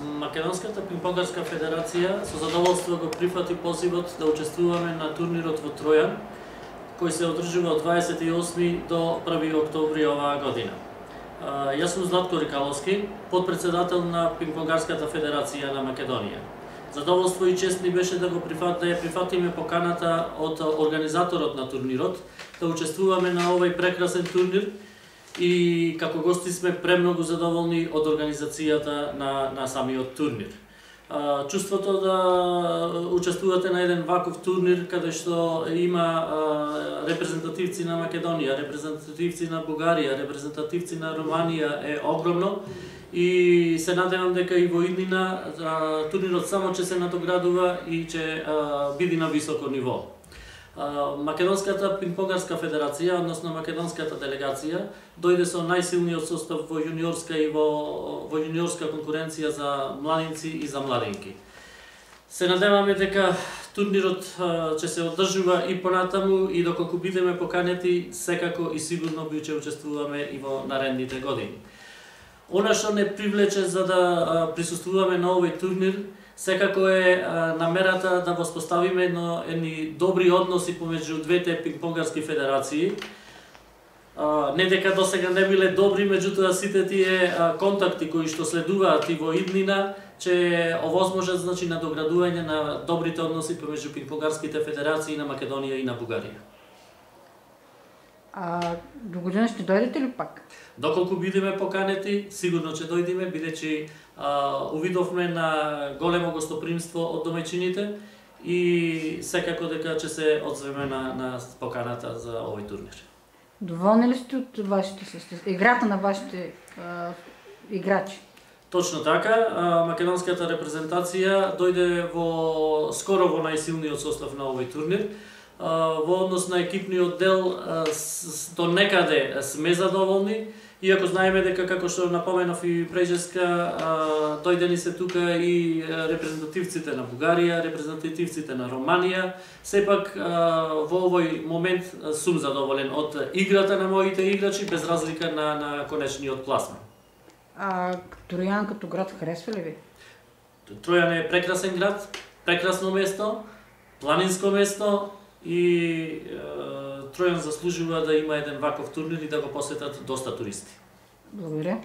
Македонската пинг-понгарска федерација со задоволство го прифати позивот да учествуваме на турнирот во Тројан, кој се одржува од 28 до 1 октомври оваа година. Јас сум Златко Рикаловски, подпредседател на Пинг-понгарската федерација на Македонија. Задоволство и чест ни беше да ја прифатиме поканата од организаторот на турнирот, да учествуваме на овој прекрасен турнир и како гости сме премногу задоволни од организацијата на самиот турнир. Чувството да учествувате на еден ваков турнир каде што има репрезентативци на Македонија, репрезентативци на Бугарија, репрезентативци на Романија е огромно и се надевам дека и во иднина турнирот само ќе се надоградува и ќе биде на високо ниво. Македонската пинг-понгарска федерација, односно македонската делегација, дојде со најсилниот состав во јуниорска и во јуниорска конкуренција за младинци и за младинки. Се надеваме дека турнирот ќе се одржува и понатаму и доколку бидеме поканети, секако и сигурно ќе учествуваме и во наредните години. Она што не привлече за да присуствуваме на овој турнир, секако е намерата да воспоставиме едни добри односи помеѓу двете пинг-понгарски федерации. Не дека досега не биле добри, меѓутоа сите тие контакти кои што следуваат и во иднина ќе овозможат надоградување на добрите односи помеѓу пинг-понгарските федерации на Македонија и на Бугарија. До година ќе дојдете ли пак? Доколку бидеме поканети, сигурно ќе дојдеме, бидејќи увидовме на големо гостопримство од домаќините и секако дека ќе се одзвеме на поканата за овој турнир. Доволни ли сте од играта на вашите играчи? Точно така, македонската репрезентација дојде скоро во најсилниот состав на овој турнир. Во однос на екипниот дел до некаде сме задоволни, иако знаеме дека, како што напоменав и прежеска, дојдени се тука и репрезентативците на Бугарија, репрезентативците на Романија. Сепак во овој момент сум задоволен од играта на моите играчи, без разлика на конечниот пласман. Тројан като град харесва ли ви? Тројан е прекрасен град, прекрасно место, планинско место, и Тројан заслужува да има еден ваков турнир и да го посетат доста туристи. Благодаря.